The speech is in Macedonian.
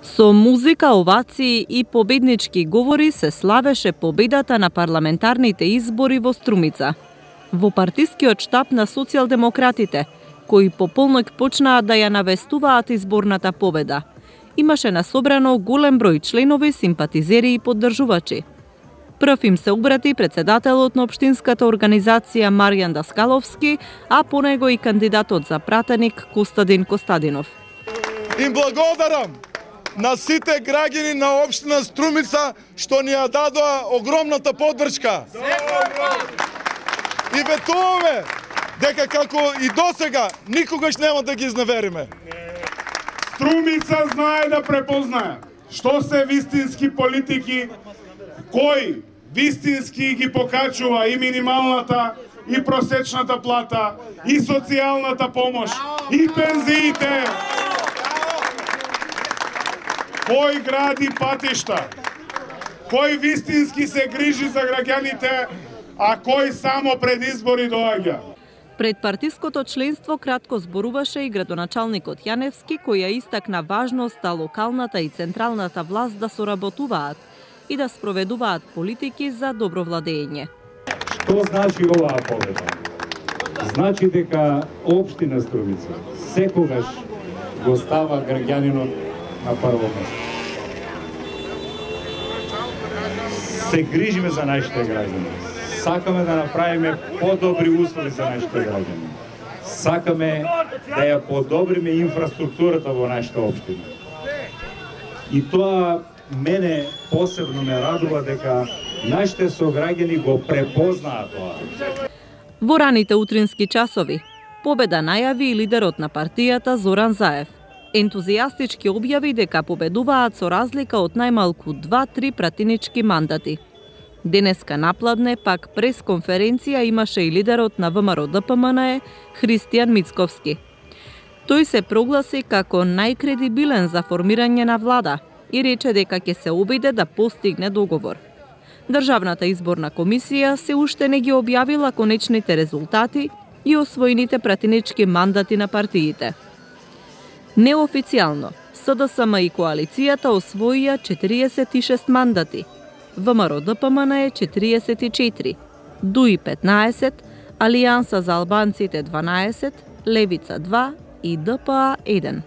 Со музика, овации и победнички говори се славеше победата на парламентарните избори во Струмица. Во партискиот штаб на социјалдемократите, кои по полнок почнаа да ја навестуваат изборната победа, имаше насобрано голем број членови, симпатизери и поддржувачи. Прв им се обрати председателот на општинската организација Маријан Даскаловски, а по него и кандидатот за пратеник Костадин Костадинов. Им благодарам на сите граѓани на општина Струмица што ни ја дадоа огромната поддршка. И ветуваме дека како и досега никогаш нема да ги изневериме. Струмица знае да препознае што се вистински политики, кој вистински ги покачува и минималната, и просечната плата, и социјалната помош, и пензиите. Кој гради патишта, кој вистински се грижи за граѓаните, а кој само пред избори доаѓа. Пред партиското членство кратко зборуваше и градоначалникот Јаневски, кој ја истакна важноста локалната и централната власт да соработуваат и да спроведуваат политики за добро владење. Што значи оваа победа? Значи дека општина Струмица секогаш го става граѓанинот на прво место. Се грижиме за нашите граѓани. Сакаме да направиме подобри услови за нашите граѓани. Сакаме да ја подобриме инфраструктурата во нашата општина. И тоа мене посебно ме радува дека нашите сограѓани го препознаа тоа. Во раните утрински часови победа најави и лидерот на партијата Зоран Заев. Ентузијастички објави дека победуваат со разлика од најмалку 2-3 пратенички мандати. Денеска напладне пак пресконференција имаше и лидерот на ВМРО-ДПМНЕ Христијан Мицковски. Тој се прогласи како најкредибилен за формирање на влада и рече дека ќе се обиде да постигне договор. Државната изборна комисија се уште не ги објавила конечните резултати и освоените пратенички мандати на партиите. Неофицијално, СДСМ и коалицијата освоија 46 мандати, ВМРО-ДПМНЕ 44, ДУИ 15, Алијанса за албанците 12, Левица 2 и ДПА 1.